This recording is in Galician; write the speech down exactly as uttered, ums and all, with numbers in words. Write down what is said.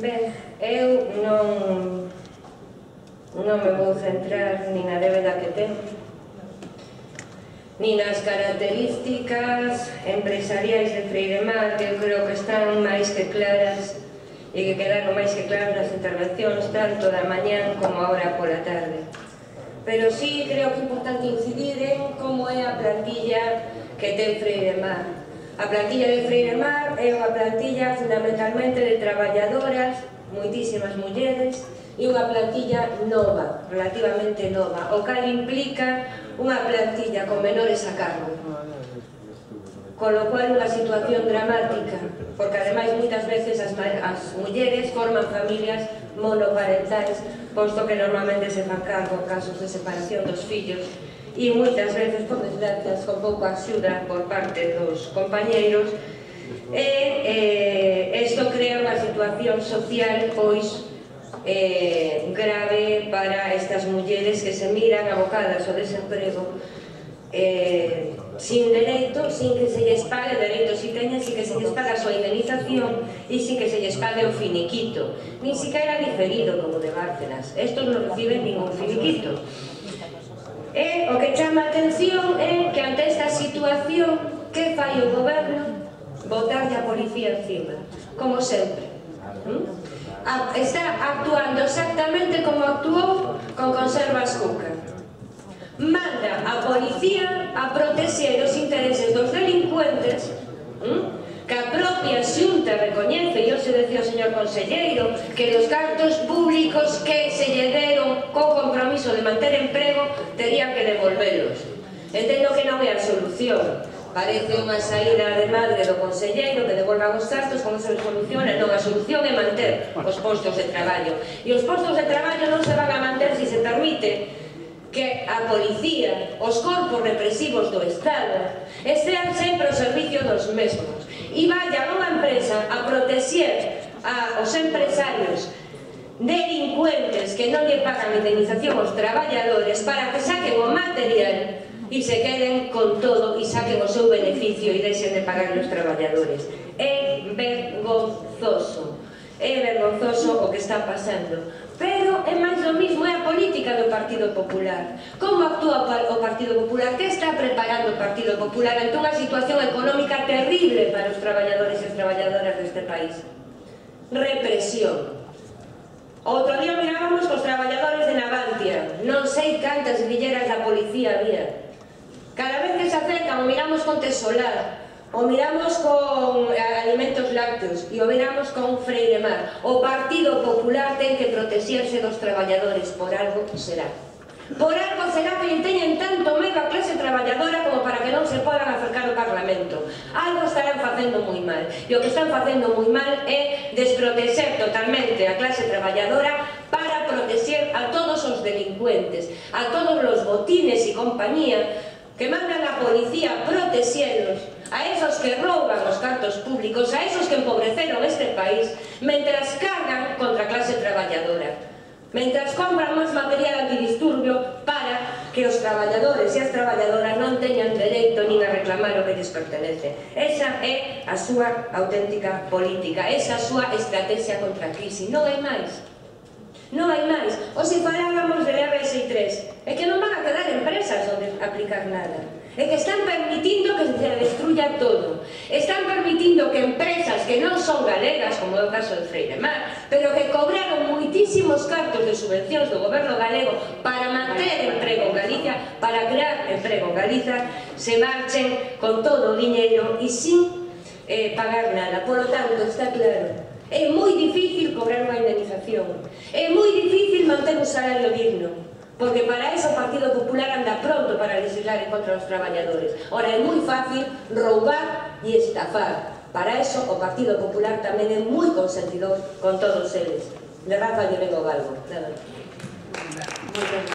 Ben, eu non non me vou centrar nin na débeda que ten, nin nas características empresariais de Freiremar, que eu creo que están máis que claras e que quedaron máis que claras nas intervencións tanto da mañán como agora pola tarde. Pero sí creo que é importante incidir en como é a plantilla que ten Freiremar. A plantilla de Freiremar é unha plantilla fundamentalmente de traballadoras, moitísimas mulleres, e unha plantilla nova, relativamente nova, o cal implica unha plantilla con menores a cargo. Con lo cual unha situación dramática, porque ademais moitas veces as, as mulleres forman familias monoparentais, posto que normalmente se fan cargo en casos de separación dos fillos, e moitas veces, por desgracias, con pouca axuda por parte dos compañeiros, e isto crea unha situación social, pois, Eh, grave para estas mulleres que se miran abocadas ao desemprego eh, sin dereito, sin que se lles pague dereito, si teñen, sin que se lles pague a súa indemnización e sin que se lles pague o finiquito, nin siquiera diferido como de Bárcenas. Estos non reciben ningún finiquito. E o que chama a atención é que ante esta situación, que fai o goberno? Botarlle a policía encima, como sempre. ¿Mm? Está actuando exactamente como actuou con Conservas Cuca. Manda a policía a protexer os intereses dos delincuentes, ¿m? Que a propia Xunta recoñece, e hoxe decía o señor conselleiro, que os cartos públicos que se lle deron co compromiso de manter emprego terían que devolvelos. Entendo que non é a solución. Parece unha saída de madre do conselleiro que devolvan os cartos, como se soluciona. Non, a solución é manter os postos de traballo. E os postos de traballo non se van a manter se se permite que a policía, os corpos represivos do Estado, estean sempre ao servicio dos mesmos e vayan a unha empresa a protexer aos empresarios delincuentes que non lle pagan indemnización aos traballadores para que saquen o material e se queden con todo e saquen o seu beneficio e deixen de pagar os traballadores. É vergonzoso, é vergonzoso o que está pasando. Pero é máis do mismo, é a política do Partido Popular. Como actúa o Partido Popular? Que está preparando o Partido Popular ante unha situación económica terrible para os traballadores e as traballadoras deste país? Represión. Outro día mirábamos cos traballadores de Navantia, non sei cantas grilleras da policía había. Cada vez que se acercan o miramos con Tesolar, o miramos con Alimentos Lácteos e o miramos con Freiremar. O Partido Popular ten que protexerse dos traballadores, por algo será. Por algo será que teñen tanto medo a clase traballadora como para que non se podan acercar ao Parlamento. Algo estarán facendo moi mal. E o que están facendo moi mal é desprotexer totalmente a clase traballadora para protexer a todos os delincuentes, a todos os botines e compañía que mandan a policía a protexelos, a esos que rouban os cartos públicos, a esos que empobreceron este país, mentras cargan contra a clase traballadora, mentras compran máis material antidisturbio para que os traballadores e as traballadoras non teñan dereito nin a reclamar o que lles pertenece. Esa é a súa auténtica política, esa a súa estrategia contra a crise, non hai máis. Non hai máis. O se falábamos de R S I tres, é que non van a quedar empresas onde aplicar nada. É que están permitindo que se destruya todo. Están permitindo que empresas que non son galegas, como é o caso de Freiremar, pero que cobraron moitísimos cartos de subvencións do goberno galego para manter emprego en Galicia, para crear emprego en Galiza, se marchen con todo o diñeiro e sin eh, pagar nada. Por lo tanto, está claro, é moi difícil cobrar unha indemnización, é moi difícil manter un salario digno, porque para eso o Partido Popular anda pronto para legislar en contra dos traballadores. Ora, é moi fácil roubar e estafar. Para eso o Partido Popular tamén é moi consentidor con todos eles. De Rafa lle vengo galgo.